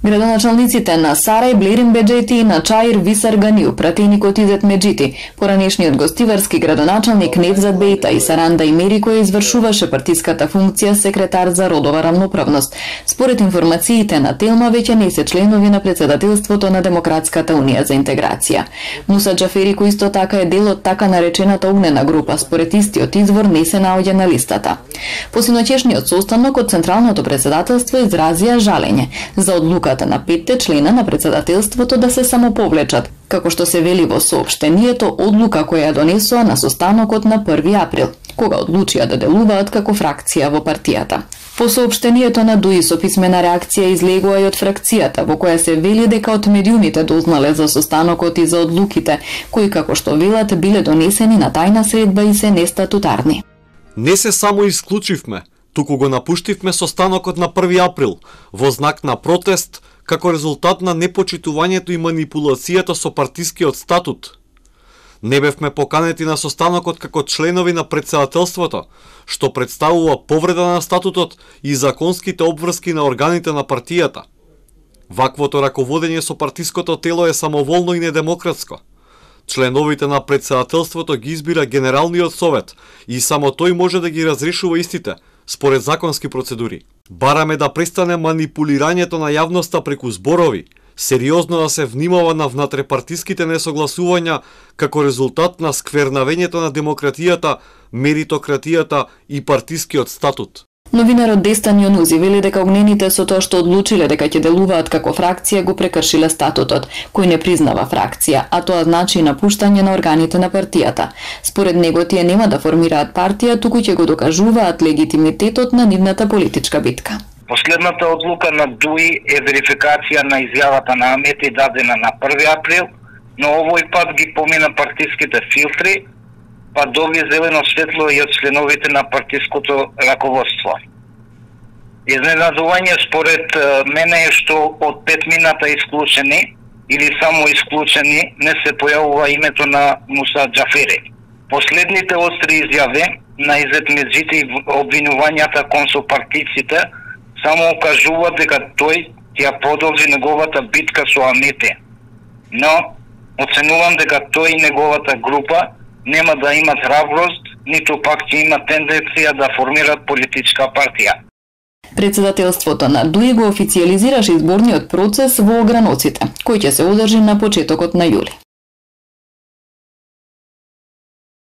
Градоначалниците на Сарај, Блерин Беџети и на Чаир Висар Ганиу, пратеникот Изет Меджити, поранешниот гостиварски градоначалник Невзат Бејта и Саранда Имери кој извршуваше партиската функција секретар за родова рамноправност. Според информациите на Телма веќе не се членови на председателството на Демократската унија за интеграција. Муса Џафери кој исто така е дел од така наречената огнена група, според истиот извор не се наоѓа на листата. По синоќешниот состанок од Централното председателство изразија жалење за одлуката на 5 члена на председателството да се самоповлечат, како што се вели во соопштението, одлука која ја донесоа на состанокот на 1 април, кога одлучија да делуваат како фракција во партијата. По соопштението на ДУИ со писмена реакција излегува и од фракцијата, во која се вели дека од медиумите дознале за состанокот и за одлуките, кои како што велат биле донесени на тајна средба и се нестатутарни. Не се само исклучивме, туку го напуштивме состанокот на 1 април во знак на протест како резултат на непочитувањето и манипулацијата со партискиот статут. Не бевме поканети на состанокот како членови на председателството, што представува повреда на статутот и законските обврски на органите на партијата. Ваквото раководење со партиското тело е самоволно и недемократско. Членовите на председателството ги избира Генералниот совет и само тој може да ги разрешува истите, според законски процедури. Бараме да престане манипулирањето на јавноста преку зборови, сериозно да се внимава на внатрепартиските несогласувања како резултат на сквернавењето на демократијата, меритократијата и партискиот статут. Новинарот Дестан Јонузи вели дека огнените со тоа што одлучиле дека ќе делуваат како фракција го прекршиле статутот, кој не признава фракција, а тоа значи напуштање на органите на партијата. Според него тие нема да формираат партија, туку ќе го докажуваат легитимитетот на нивната политичка битка. Последната одлука на ДУИ е верификација на изјавата на Амети дадена на 1 април, но овој пат ги помина партиските филтри, па доби зелено светло и од членовите на партиското раководство. Изненадување според мене е што од 5 мината исклучени или само исклучени не се појавува името на Муса Џафери. Последните остри изјави на Изет Меджити и обвинувањата кон сопартиците само укажуваат дека тој ќе продолжи неговата битка со Амети. Но оценувам дека тој и неговата група нема да имат храброст, ниту пак ќе има тенденција да формираат политичка партија. Председателството на ДУИ го официјализираше изборниот процес во Ограноците, кој ќе се одржи на почетокот на јули.